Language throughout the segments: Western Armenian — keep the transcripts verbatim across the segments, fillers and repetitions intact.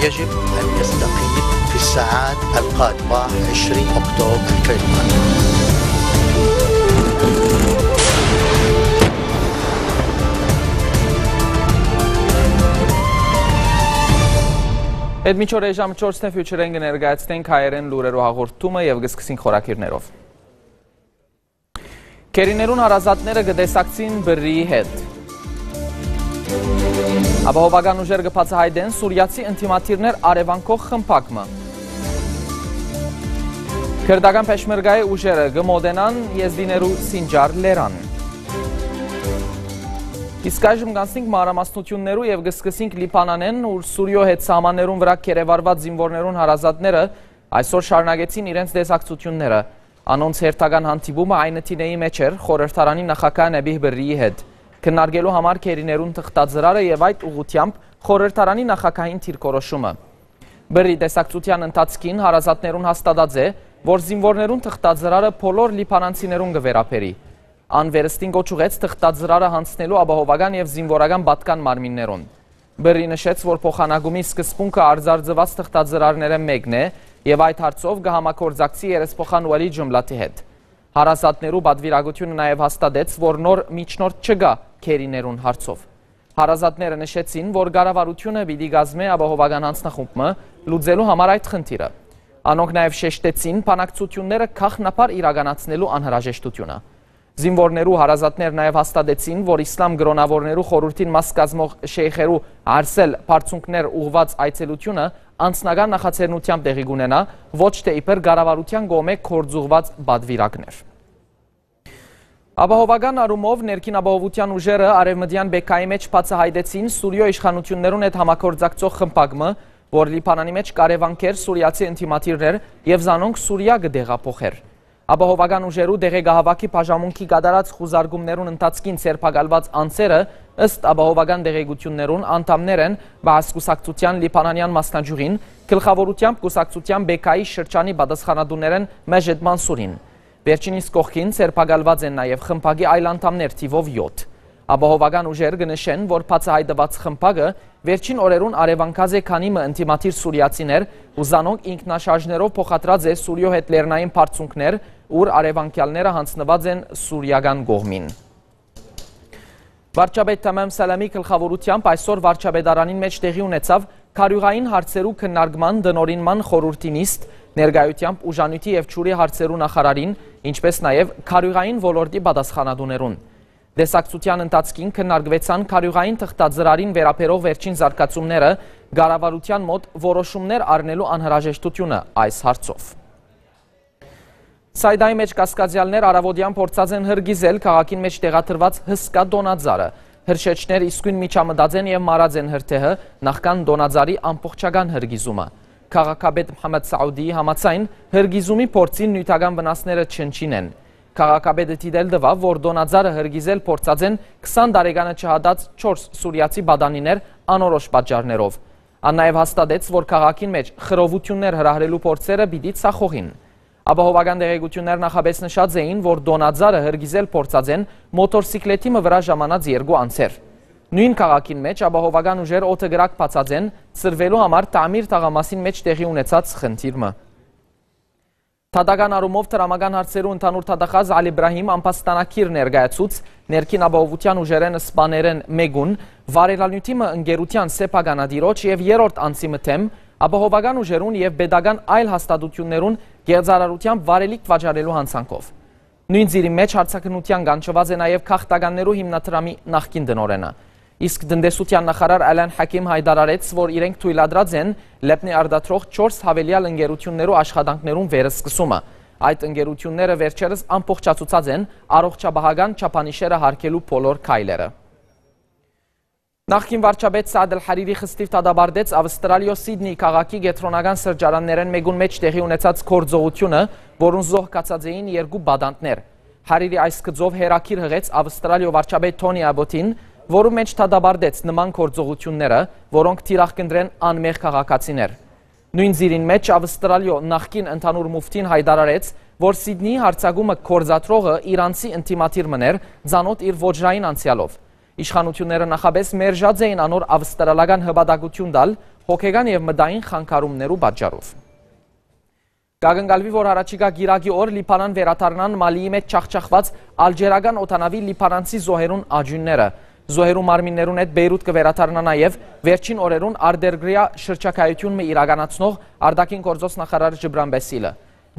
يجب أن يستقيل في الساعات القادمة، عشرين أكتوبر القادمة. Այդ միջօր էժան չորսն է, Future-ին կը ներկայացնենք հայերեն լուրերու հաղորդումը եւ կը սկսենք խորագիրներով։ Քերիներուն հարազատները կը տեսակցին Պըրրիի հետ։ Ապահովական ուժեր կը բացայայտեն սուրիացի ընդդիմադիրներ առեւանգող խմբակ մը։ Քրտական Փեշմերգայի ուժերը կը մօտենան Եզդիներու Սինջար լերան։ Իսկ այժմ կանցնենք մանրամասնութիւններու եւ կը սկսենք Լիբանանէն, ուր Սուրիոյ հետ սահմաններուն վրայ գերեվարուած զինուորներուն հարազատները այսօր շարունակեցին իրենց տեսակցութիւնները։ Անոնց հերթական հանդիպումը Այն Տինեի մէջ էր խորհրդարանի նախագահ Նեբիհ Պըրրիի հետ, քննարկելու համար քերիներուն թղթածրարը եւ այդ ուղղութեամբ խորհրդարանի նախագահին դիրքորոշումը։ Պըրրի տեսակցութեան ընթացքին հարազատներուն հաստատած է, որ զինուորներուն թղթածրարը բոլոր լիբանանցիներուն կը վերաբերի։ Ան վերստին կոչ ուղղեց թղթածրարը յանձնելու ապահովական եւ զինուորական պատկան մարմիններուն։ Պըրրի նշեց, որ փոխանակումի սկզբունքը արձարծուած թղթածրարներէն մէկն է եւ այդ հարցով կը համագործակցի երեսփոխան Ուալի Ջումլաթի հետ։ Հարազատներու պատուիրակութիւնը նաեւ հաստատեց, որ նոր միջնորդ չկայ քերիներուն հարցով։ Հարազատները նշեցին, որ կառավարութիւնը պիտի կազմէ ապահովական յանձնախումբ մը լուծելու համար այդ խնդիրը։ Անոնք նաեւ շեշտեցին բանակցութիւնները գաղտնաբար իրականացնելու անհրաժեշտութիւնը։ Զինուորներու հարազատներ նաեւ հաստատեցին, որ Իսլամ կրօնաւորներու խորհուրդին մաս կազմող շեյխերու Արսել բարձունքներ ուղղուած այցելութիւնը անձնական նախաձեռնութեամբ տեղի կունենայ, ոչ թէ իբր կառավարութեան կողմէ գործուղղուած պատուիրակներ։ Ապահովական առումով ներքին ապահովութեան ուժերը արեւմտեան Բեքայի մէջ բացայայտեցին Սուրիոյ իշխանութիւններուն հետ համագործակցող խմբակ մը, որ Լիբանանի մէջ կ'առեւանգէր սուրիացի ընդդիմադիրներ եւ զանոնք Սուրիա կը տեղափոխէր։ Ապահովական ուժերու տեղեկահաւաքի բաժանմունքի կատարած խուզարկումներուն ընթացքին ձերբակալուած անձերը, ըստ ապահովական տեղեկութիւններուն, անդամներ են Բաաս կուսակցութեան լիբանանեան մասնաճիւղին, գլխաւորութեամբ կուսակցութեան Բեքայի շրջանի պատասխանատուներէն Մէժեդ Մանսուրին։ Վերջինիս կողքին ձերբակալուած են նաեւ խմբակի այլ անդամներ թիւով յոթ։ Ապահովական ուժեր կը նշեն, որ բացայայտուած խմբակը վերջին օրերուն առեւանգած է քանի մը ընդդիմադիր սուրիացիներ ու զանոնք ինքնաշարժներով փոխադրած է Սուրիոյ հետ լեռնային բարձունքներ, ուր առեւանգեալները յանձնուած են սուրիական կողմին։ Վարչապետ Թեմեմ Սալամի գլխաւորութեամբ այսօր վարչապետարանին մէջ տեղի ունեցաւ քարիւղային հարցերու քննարկման տնօրինման խորհուրդի նիստ, ներկայութեամբ ուժանիւթի եւ ջուրի հարցերու նախարարին, ինչպէս նաեւ քարիւղային ոլորտի պատասխանատուներուն։ Տեսակցութեան ընթացքին քննարկուեցան քարիւղային թղթածրարին վերաբերող վերջին զարգացումները, կառավարութեան մօտ որոշումներ առնելու անհրաժեշտութիւնը այս հարցով։ Սայդայի մէջ կասկածեալներ առաւօտեան փորձած են հրկիզել քաղաքին մէջ տեղադրուած հսկայ տոնածառը։ Հրշեջներ իսկոյն միջամտած են եւ մարած են հրդեհը նախքան տոնածառի ամբողջական հրկիզումը։ Քաղաքապետ Մհամմեդ Սաուդիի համաձայն, հրկիզումի փորձին նիւթական վնասները չնչին են։ Քաղաքապետը դիտել տուաւ, որ տոնածառը հրկիզել փորձած են քսան տարեկանը չհատած չորս սուրիացի պատանիներ անորոշ պատճառներով։ Ան նաեւ հաստատեց, որ քաղաքին մէջ խռովութիւններ հրահրելու փորձերը պիտի ձախողին։ Ապահովական տեղեկութիւններ նախապէս նշած էին, որ տոնածառը հրկիզել փորձած են մոտորսիկլետի մը վրայ ժամանած երկու անձեր։ Նոյն քաղաքին մէջ ապահովական ուժեր օդը կրակ բացած են սրվելու համար Տամիր թաղամասին մէջ տեղի ունեցած խնդիր մը։ Դատական առումով դրամական հարցերու ընդհանուր դատախազ Ալի Իբրահիմ ամբաստանագիր ներկայացուց ներքին ապահովութեան ուժերէն սպաներէն մէկուն, վարելանիւթի մը ընկերութեան սեփականատիրոջ եւ երրորդ անձի մը դէմ, ապահովական ուժերուն եւ պետական այլ հաստատութիւններուն կեղծարարութեամբ վարելիք վաճառելու յանցանքով։ Նոյն ծիրի մէջ հարցաքննութեան կանչուած է նաեւ գաղթականներու հիմնադրամի նախկին տնօրէնը։ Իսկ տնտեսութեան նախարար Ալան Հաքիմ յայտարարեց, որ իրենք թոյլատրած են Լեբնի արտադրող չորս յաւելեալ ընկերութիւններու աշխատանքներուն վերսկսումը։ Այդ ընկերութիւնները վերջերս ամբողջացուցած են առողջապահական չափանիշերը յարգելու բոլոր քայլերը։ Նախկին վարչապետ Սաադ Ալ Հարիրի խստիւ դատապարտեց Ավստրալիոյ Սիդնի քաղաքի կեդրոնական սրճարաններէն մէկուն մէջ տեղի ունեցած գործողութիւնը, որուն զոհ գացած էին երկու պատանդներ։ Հարիրի այս գծով հերագիր յղեց Ավստրալիոյ վարչապետ Թոնի Աբոթին, որու մէջ դատապարտեց նման գործողութիւնները, որոնք թիրախ կ'ընտրեն անմեղ քաղաքացիներ։ Նոյն ծիրին մէջ Ավստրալիոյ նախկին ընդհանուր մուֆտին յայտարարեց, որ Սիդնիի յարձակումը գործադրողը իրանցի ընդդիմադիր մըն էր, ծանօթ իր ոճրային անցեալով։ Իշխանութիւնները նախապէս մերժած էին անոր ավստրալական հպատակութիւն տալ՝ հոգեկան եւ մտային խանգարումներու պատճառով։ Կակնկալուի, որ յառաջիկայ կիրակի օր Լիբանան վերադառնան Մալիի մէջ ջախջախուած ալժիրական օդանաւի լիբանանցի զոհերուն աճիւնները։ Զոհերու մարմիններուն հետ Պէյրութ կը վերադառնայ նաեւ վերջին օրերուն արտերկրեայ շրջագայութիւն մը իրականացնող արտաքին գործոց նախարար Ջիբրան Պեսիլը։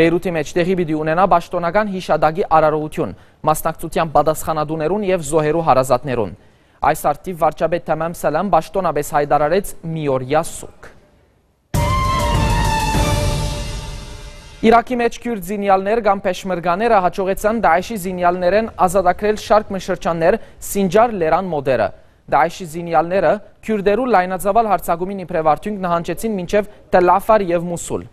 Պէյրութի մէջ տեղի պիտի ունենայ պաշտօնական յիշատակի արարողութիւն՝ մասնակցութեամբ պատասխանատուներուն եւ զոհերու հարազատներուն։ Այս առթիւ վարչապետ Թեմեմ Սալամ պաշտօնապէս յայտարարեց միօրեայ սուգ։ Իրաքի մէջ քիւրտ զինեալներ կամ փեշմերկաները յաջողեցան Դաէշի զինեալներէն ազատագրել շարք մը շրջաններ Սինջար լերան մօտերը։ Դաէշի զինեալները քիւրտերու լայնածաւալ յարձակումին իբրեւ արդիւնք նահանջեցին մինչեւ Տել Աֆար եւ Մուսուլ։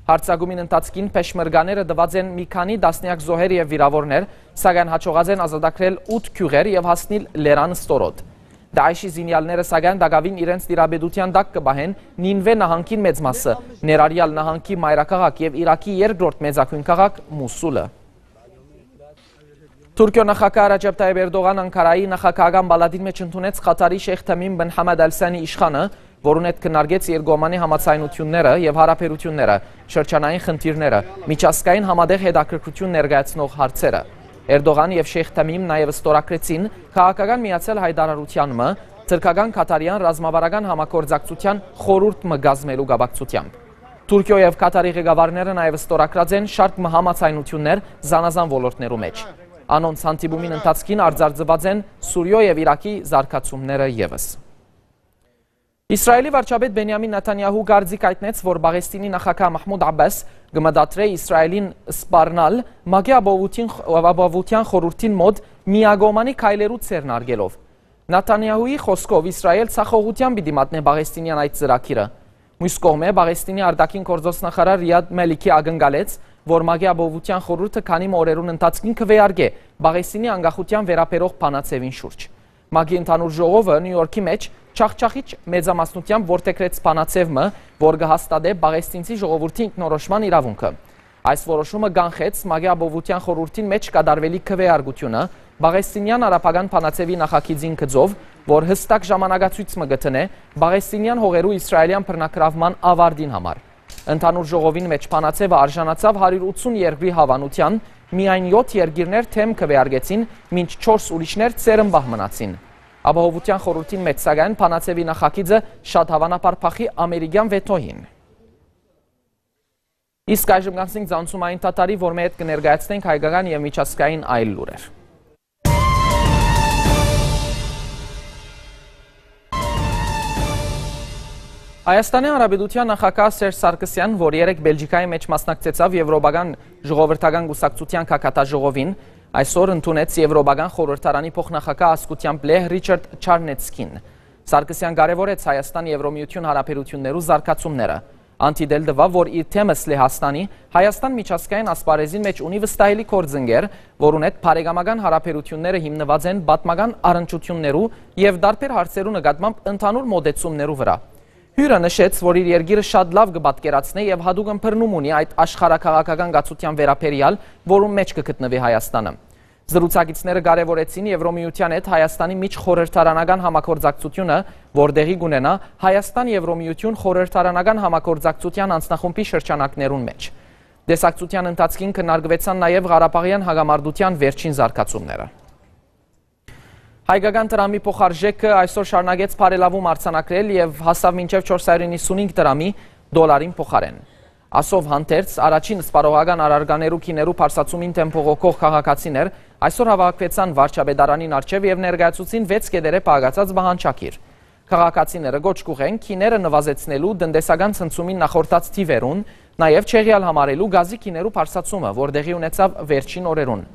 Յարձակումին ընթացքին փեշմերկաները տուած են մի քանի տասնեակ զոհեր եւ վիրաւորներ, սակայն յաջողած են ազատագրել ութ գիւղեր եւ հասնիլ լերան ստորոտ։ Դաէշի զինեալները, սակայն, տակաւին իրենց տիրապետութեան տակ կը պահեն Նինվէ նահանգին մեծ մասը, ներառեալ նահանգի մայրաքաղաք եւ Իրաքի երկրորդ մեծագոյն քաղաք Մուսուլը։ Թուրքիոյ նախագահ Ռաջեփ Թայիփ Էրդողան Անկարայի նախագահական պալատին մէջ ընդունեց Ղաթարի Շեյխ Թեմիմ բն Համադ Ալ Սանի իշխանը, որուն հետ քննարկեց երկկողմանի համաձայնութիւնները եւ յարաբերութիւնները, շրջանային խնդիրները, միջազգային համատեղ հետաքրքրութիւն ներկայացնող հարցերը։ Էրդողան եւ Շեյխ Թեմիմ նաեւ ստորագրեցին քաղաքական միացյալ յայտարարութեան մը, թրքական-քաթարեան ռազմավարական համագործակցութեան խորհուրդ մը կազմելու կապակցութեամբ։ Թուրքիոյ եւ Քաթարի ղեկավարները նաեւ ստորագրած են շարք մը համաձայնութիւններ զանազան ոլորտներու մէջ։ Անոնց հանդիպումին ընթացքին արձանագրուած են Սուրիոյ եւ Իրաքի զարգացումները եւս։ Իսրայէլի վարչապետ Բենիամին Նեթանիահու կարծիք յայտնեց, որ Պաղեստինի նախագահ Մահմուդ Աբբաս կը մտադրէ Իսրայէլին սպառնալ ՄԱԿ-ի ապահովութին-, ապահովութեան խորհուրդին մօտ միակողմանի քայլերու ձեռնարկելով։ Նեթանիահուի խօսքով, Իսրայէլ ձախողութեան պիտի մատնէ պաղեստինեան այդ ծրագիրը։ Միւս կողմէ, Պաղեստինի արտաքին գործոց նախարար Ռիադ Մելիքի ակնկալեց, որ ՄԱԿ-ի Ապահովութեան խորհուրդը քանի մը օրերուն ընթացքին կը քննարկէ Պաղեստինի անկախութեան վերաբերող բանաձեւին շուրջ։ ՄԱԿ-ի ընդհանուր ժողովը Նիու Յորքի մէջ ջախջախիչ մեծամասնութեամբ որդեգրեց բանաձեւ մը, որ կը հաստատէ պաղեստինցի ժողովուրդի ինքնորոշման իրաւունքը։ Այս որոշումը կանխեց ՄԱԿ-ի Ապահովութեան խորհուրդին մէջ կատարուելիք քվեարկությունը պաղեստինեան արաբական բանաձեւի նախագիծին գծով, որ յստակ ժամանակացոյց մը կը դնէ պաղեստինեան հողերու իսրայէլեան բռնագրաւման աւարտին համար։ Ընդհանուր ժողովին մէջ բանաձեւը արժանացաւ հարիւր ութսուն երկրի հաւանութեան, միայն եօթ երկիրներ դէմ քվեարկեցին, մինչ չորս ուրիշներ ծերմբահ մնացին։ Ապահովութեան խորհուրդին մէջ, սակայն, բանաձեւի նախագիծը շատ հաւանաբար փախի ամերիկեան վեթոյին։ Իսկ այժմ կանցնենք ցանցումային թաթարի, որ մէջ կը ներկայացնենք հայկական եւ միջազգային այլ լուրեր։ Հայաստանի Հանրապետութեան նախագահ Սերժ Սարգսեան, որ երեկ Բելգիքայի մէջ մասնակցեցաւ Եվրոպական ժողովրդական կուսակցութեան գագաթաժողովին, այսօր ընդունեց Եվրոպական խորհրդարանի փոխնախագահ ազգութեամբ լեհ Ռիչարդ Չարնեցկին։ Սարգսեան կարեւորեց Հայաստան-Եվրոմիութիւն հարաբերութիւններու զարգացումները։ Ան դիտել տուաւ, որ իր թեմս Լեհաստանի Հայաստան միջազգային ասպարէզին մէջ ունի վստահելի գործընկեր, որուն հետ բարեկամական հարաբերութիւնները հիմնուած են պատմական առնչութիւններու եւ տարբեր հարցերու նկատմամբ ընդհանուր մոտեցումներու վրայ։ Հիւրը նշեց, որ իր երկիրը շատ լաւ կը պատկերացնէ եւ յատուկ ըմբռնում ունի այդ աշխարհաքաղաքական կացութեան վերաբերեալ, որուն մէջ կը գտնուի Հայաստանը։ Զրուցակիցները կարեւորեցին Եվրոմիութեան հետ Հայաստանի միջխորհրդարանական համագործակցութիւնը, որ տեղի կունենայ Հայաստան-Եվրոմիութիւն խորհրդարանական համագործակցութեան անձնախումբի շրջանակներուն մէջ։ Տեսակցութեան ընթացքին քննարկուեցան նաեւ Ղարաբաղեան հակամարտութեան վերջին զարգացումները։ Հայկական դրամի փոխարժէքը այսօր շարունակեց բարելաւում արձանագրել եւ հասաւ մինչեւ չորս հարիւր իննսունհինգ դրամի դոլարին փոխարէն։ Ասով հանդերձ, առաջին սպառողական առարկաներու գիներու բարձրացումին դէմ բողոքող քաղաքացիներ այսօր հաւաքուեցան վարչապետարանին առջեւ եւ ներկայացուցին վեց կէտերէ պահակացած պահանջագիր։ Քաղաքացիները կոչ կուղղեն գիները նուազեցնելու, տնտեսական ցնցումին նախորդած թիւերուն, նաեւ չեղեալ համարելու գազի գիներու բարձրացումը, որ տեղի ունեցաւ վերջին օրերուն։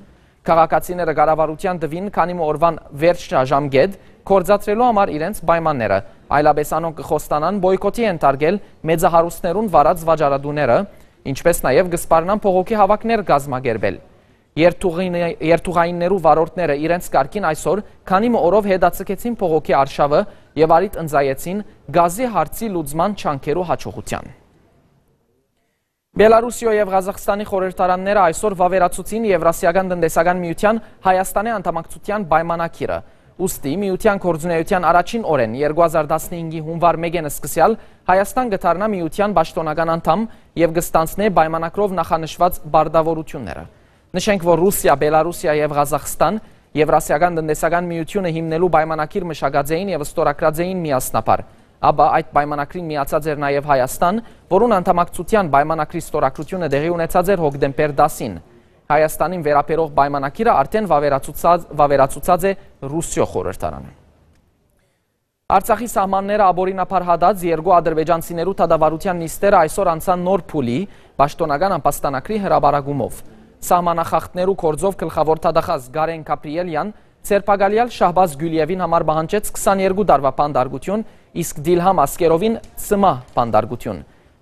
Քաղաքացիները կառավարութեան տուին քանի մը օրուան վերջնաժամկէտ գործադրելու համար իրենց պայմանները, այլապէս անոնք կը խոստանան պոյկոթի ենթարկել մեծահարուստներուն վարած վաճառատուները, ինչպէս նաեւ կը սպառնան բողոքի հաւաքներ կազմակերպել։ Երթուղին-, երթուղայիններու վարորդները իրենց կարգին այսօր քանի մը օրով հետաձգեցին բողոքի արշաւը եւ առիթ ընծայեցին գազի հարցի լուծման ջանքերու հաջողութեան։ Բելարուսիոյ եւ Ղազախստանի խորհրդարանները այսօր վաւերացուցին Եվրասիական տնտեսական միութեան Հայաստանի անդամակցութեան պայմանագիրը։ Ուստի միութեան գործունեութեան առաջին օրէն, երկու հազար տասնհինգի հունուար մէկէն սկսեալ, Հայաստան կը դառնայ միութեան պաշտօնական անդամ եւ կը ստանձնէ պայմանագրով նախանշուած պարտաւորութիւնները։ Նշենք, որ Ռուսիա, Բելառուսիա եւ Ղազախստան Եւրասիական տնտեսական միութիւնը հիմնելու պայմանագիր մշակած էին եւ ստորագրած էին միասնաբար։ Ապա այդ պայմանագրին միացած էր նաեւ Հայաստան, որուն անդամակցութեան պայմանագրի ստորագրութիւնը տեղի ունեցած էր հոկտեմբեր տասին։ Հայաստանին վերաբերող պայմանագիրը արդէն վաւերացուցած, վաւերացուցած է Ռուսիոյ խորհրդարանը։ Արցախի սահմանները ապօրինաբար հատած երկու ադրբեջանցիներու դատավարութեան նիստերը այսօր անցան նոր փուլի՝ պաշտօնական ամբաստանագրի հրապարակումով։ Սահմանախախտներու գործով գլխաւոր դատախազ Գարեն Գաբրիելյան ձերբակալեալ Շահբազ Գիւլիեւին համար պահանջեց քսաներկու տարուայ բանտարկութիւն, իսկ Դիլհամ Ասկերովին՝ ցմահ բանտարկութիւն։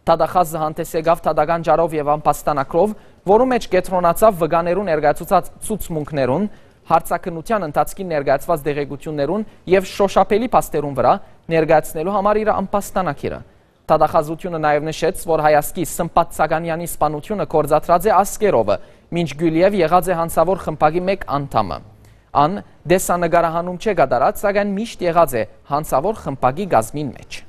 Դատախազը հանդէս եկաւ դատական ճառով եւ ամբաստանագրով, որու մէջ կեդրոնացաւ վկաներու ներկայացուցած ցուցմունքներուն, հարցաքննութեան ընթացքին ներկայացուած տեղեկութիւններուն եւ շոշափելի փաստերուն վրայ ներկայացնելու համար իր ամբաստանագիրը։ Դատախազութիւնը նաեւ նշեց, որ հայազգի Սմբատ Սագանեանի սպանութիւնը գործադրած է Ասկերովը, մինչ Գիուլիեւ եղած է հանցաւոր խմբակի մէկ անդամը։ Ան տեսանկարահանում չէ կատարած, սակայն միշտ եղած է հանցաւոր խմբակի կազմին մէջ։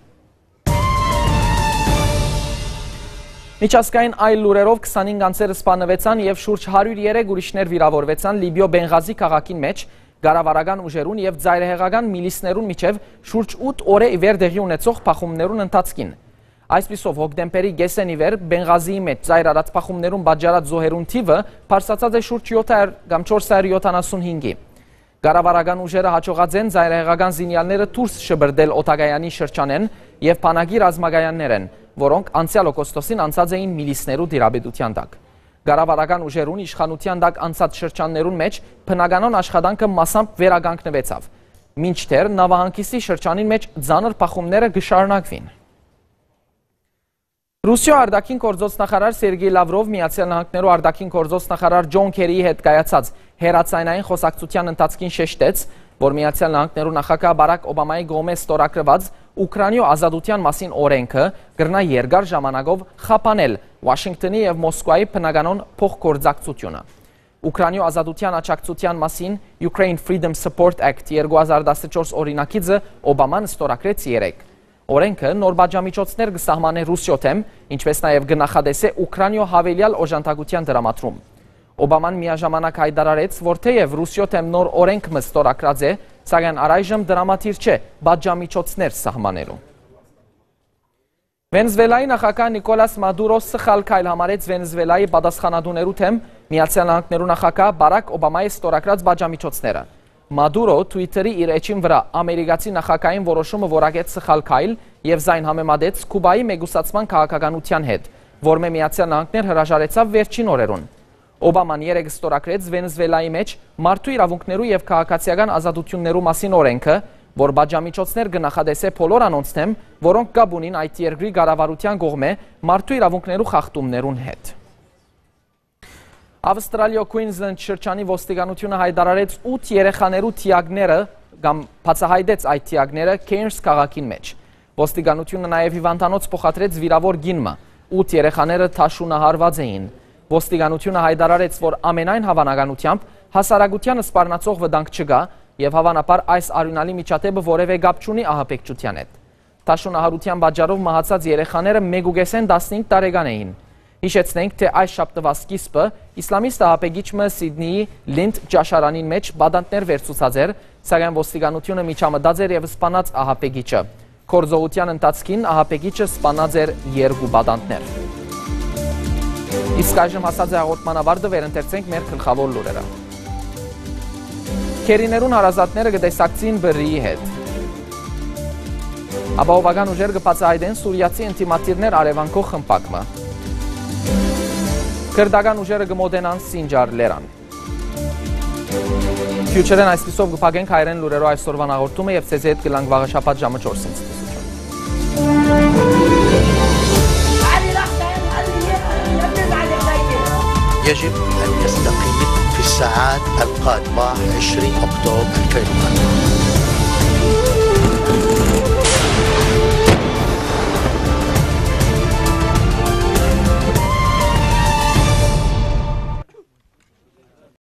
Միջազգային այլ լուրերով, քսանհինգ անձեր սպաննուեցան եւ շուրջ հարիւր երեք ուրիշներ վիրաւորուեցան Լիբիոյ Պենղազի քաղաքին մէջ կառավարական ուժերուն եւ ծայրահեղական միլիսներուն միջեւ շուրջ ութ օրէ ի վեր տեղի ունեցող բախումներուն ընթացքին։ Այսպիսով, հոկտեմբերի կէսէն ի վեր Պենղազիի մէջ ծայր առած բախումներուն պատճառած զոհերուն թիւը բարձրացած է շուրջ յոթ հարիւր կամ չորս հարիւր յոթանասուն հինգի։ Կառավարական ուժերը յաջողած են ծայրահեղական զինեալները դուրս շպրտել օդակայանի շրջանէն եւ բանակի ռազմակայաններէն, որոնք անցեալ օգոստոսին անցած էին միլիսներու տիրապետութեան տակ։ Կառավարական ուժերուն իշխանութեան տակ անցած շրջաններուն մէջ բնականոն աշխատանքը մասամբ վերականգնուեցաւ, մինչդեռ նաւահանգիստի շրջանին մէջ ծանր բախումները կը շարունակուին։ Ռուսիոյ արտաքին գործոց նախարար Սերգեյ Լավրով Միացեալ Նահանգներու արտաքին գործոց նախարար Ջոն Քերիի հետ կայացած հեռաձայնային խօսակցութեան ընթացքին շեշտեց, որ Միացեալ Նահանգներու նախագահ Բարակ Օբամայի կողմէ ստորագրուած Ուքրանիոյ ազատութեան մասին օրէնքը կրնայ երկար ժամանակով խափանել Ուաշինկթոնի եւ Մոսկուայի բնականոն փոխգործակցությունը։ Ուքրանիոյ ազատութեան աջակցութեան մասին Ukraine Freedom Support Act երկու հազար տասնչորս օրինագիծը Օբաման ստորագրեց երեկ։ Օրէնքը նոր պատժամիջոցներ կը սահմանէ Ռուսիոյ դէմ, ինչպէս նաեւ կը նախատեսէ Ուքրանիոյ յաւելեալ օժանդակութեան տրամադրում։ Օբաման միաժամանակ յայտարարեց, որ թէեւ Ռուսիոյ դէմ նոր օրէնք մը ստորագրած է, սակայն առայժմ տրամադիր չէ պատժամիջոցներ սահմանելու։ Վենեզուելայի նախագահ Նիկոլաս Մադուրո սխալ քայլ համարեց Վենեզուելայի պատասխանատուներու դէմ Միացեալ Նահանգներու նախագահ Բարակ Օբամայի ստորագրած պատժամիջոցները։ Մադուրո Twitter-ի իր էջին վրայ ամերիկացի նախագահին որոշումը որակեց սխալ քայլ եւ զայն համեմատեց Քուբայի մեկուսացման քաղաքականութեան հետ, որմէ Միացեալ Նահանգներ հրաժարեցաւ վերջին օրերուն։ Օբաման երեկ ստորագրեց Վենեզուելայի մէջ մարդու իրաւունքներու եւ քաղաքացիական ազատութիւններու մասին օրէնքը, որ պատժամիջոցներ կը նախատեսէ բոլոր անոնց դէմ, որոնք կապ ունին այդ երկրի կառավարութեան կողմէ մարդու իրաւունքներու խախտումներուն հետ։ Ավստրալիոյ Queensland շրջանի ոստիկանութիւնը յայտարարեց ութ երեխաներու դիակները կամ բացահայտեց այդ դիակները Cairns քաղաքին մէջ։ Ոստիկանութիւնը նաեւ հիւանդանոց փոխադրեց վիրաւոր կին մը։ Ութ երեխաները թաշունահարուած էին։ Ոստիկանութիւնը յայտարարեց, որ ամենայն հաւանականութեամբ հասարակութեանը սպառնացող վտանգ չկայ եւ հաւանաբար այս արիւնալի միջադէպը որեւէ կապ չունի ահաբեկչութեան հետ։ Թաշունահարութեան պատճառով մահացած երեխաները մէկուկէսէն տասնհինգ տարեկան էին։ Յիշեցնենք, թէ այս շաբթուայ սկիզբը իսլամիստ ահաբեկիչ մը Սիդնիի Լինդ ճաշարանին մէջ պատանտներ վերցուցած էր, սակայն ոստիկանութիւնը միջամտած էր եւ սպանած ահաբեկիչը։ Գործողութեան ընթացքին ահաբեկիչը սպանած էր երկու պատանտներ։ Իսկ այժմ հասած է հաղորդման ավարտը, վերընթերցենք մեր գլխաւոր լուրերը։ Քերիներուն հարազատները կը տեսակցին Բրրիի հետ։ Ապահովական ուժեր կը բացահայտեն սուրիացի ընդդիմադիրներ արեւանքող խմբակ մը։ Քրտական ուժերը կը մոտենան Սինջար լերան։ Future-ն այսպիսով կը փակենք հայերեն լուրերով այսօրվան հաղորդումը եւ ձեզի հետ կ'ըլլանք վաղը շաբաթ ժամը չորսին ցտեսություն։ يجب أن يستقيل في الساعات القادمة، عشرين أكتوبر ألفين وأربعة.